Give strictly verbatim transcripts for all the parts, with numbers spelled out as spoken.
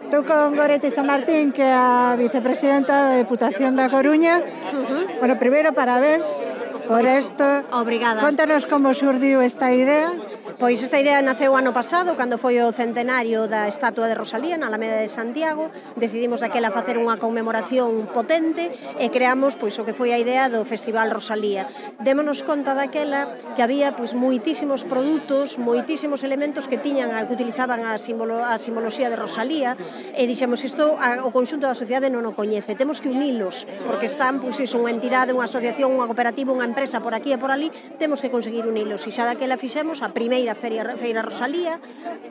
Estou con Goretti Chamartín, que é a vicepresidenta da Deputación da Coruña. Uh-huh. Bueno, primeiro, parabéns por isto. Obrigada. Contanos como surdiu esta idea. Pois esta idea naceu ano pasado, cando foi o centenario da estatua de Rosalía na Alameda de Santiago. Decidimos aquela facer unha conmemoración potente e creamos pois o que foi a idea do Festival Rosalía. Démonos conta daquela que había pois moitísimos produtos, moitísimos elementos que tiñan que utilizaban a, simbolo, a simboloxía de Rosalía, e dixemos isto a, o conxunto da sociedade non o coñece, temos que unilos, porque están pois iso, unha entidade, unha asociación, unha cooperativa, unha empresa por aquí e por ali, temos que conseguir unilos, e xa daquela fixemos a primeira Feira, Feira Rosalía.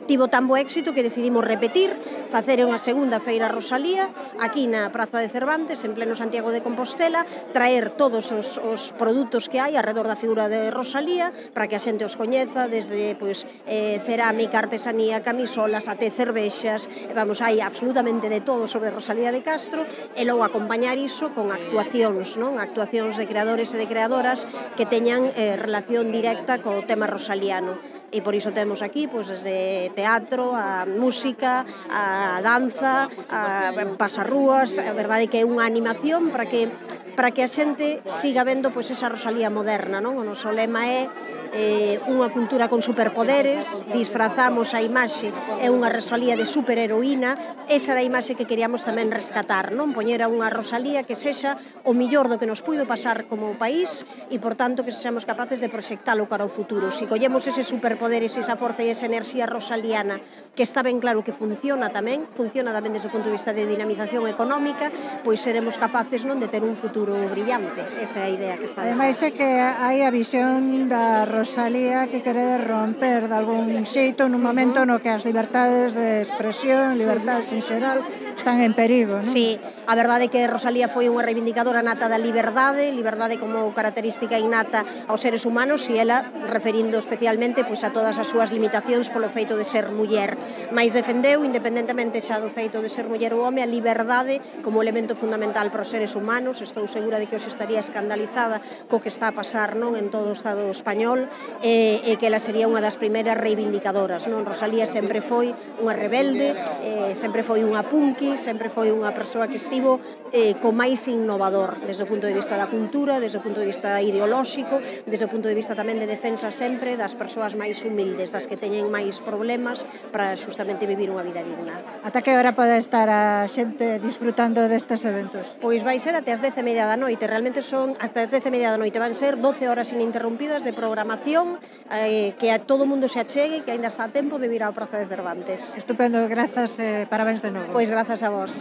Tivo tan bo éxito que decidimos repetir, facer unha segunda Feira Rosalía aquí na Praza de Cervantes, en pleno Santiago de Compostela, traer todos os, os produtos que hai alrededor da figura de Rosalía para que a xente os coñeza, desde pois, eh, cerámica, artesanía, camisolas, até cervexas, vamos, hai absolutamente de todo sobre Rosalía de Castro, e logo acompañar iso con actuacións, non? Actuacións de creadores e de creadoras que teñan eh, relación directa co tema rosaliano. E por iso temos aquí, pois, desde teatro, a música, a danza, a pasarrúas, a verdade que é unha animación para que para que a xente siga vendo pois esa Rosalía moderna, non? O noso lema é eh, unha cultura con superpoderes, disfrazamos a imaxe, é unha Rosalía de superheroína, esa era a imaxe que queríamos tamén rescatar, non? Poñer a unha Rosalía que sexa o millor do que nos puido pasar como país e, por tanto, que sexamos capaces de proxectalo cara ao futuro. Si collemos ese superpoderes, esa forza e esa enerxía rosaliana, que está ben claro que funciona tamén, funciona tamén desde o punto de vista de dinamización económica, pois seremos capaces non de ter un futuro brillante. Esa é a idea que está. Ademais é que hai a visión da Rosalía que quere romper de algún xeito nun momento no que as libertades de expresión, libertades en xeral, están en perigo, non? Sí, a verdade é que Rosalía foi unha reivindicadora nata da liberdade, liberdade como característica innata aos seres humanos, e ela referindo especialmente pois, a todas as súas limitacións polo feito de ser muller. Mais defendeu, independentemente xa do feito de ser muller ou home, a liberdade como elemento fundamental para os seres humanos. Estou segura de que os estaría escandalizada co que está a pasar non en todo o Estado español, e, e que ela sería unha das primeiras reivindicadoras. Non? Rosalía sempre foi unha rebelde, eh, sempre foi unha punky, sempre foi unha persoa que estivo eh, co máis innovador desde o punto de vista da cultura, desde o punto de vista ideolóxico, desde o punto de vista tamén de defensa sempre das persoas máis humildes, das que teñen máis problemas para justamente vivir unha vida digna. Ata que hora pode estar a xente disfrutando destes eventos? Pois vai ser até as dez e media da noite, realmente son hasta as dez e media da noite, van ser doce horas ininterrompidas de programación, eh, que a todo mundo se achegue, que aínda está a tempo de vir á Praza de Cervantes. Estupendo, grazas e eh, parabéns de novo. Pois grazas a vos.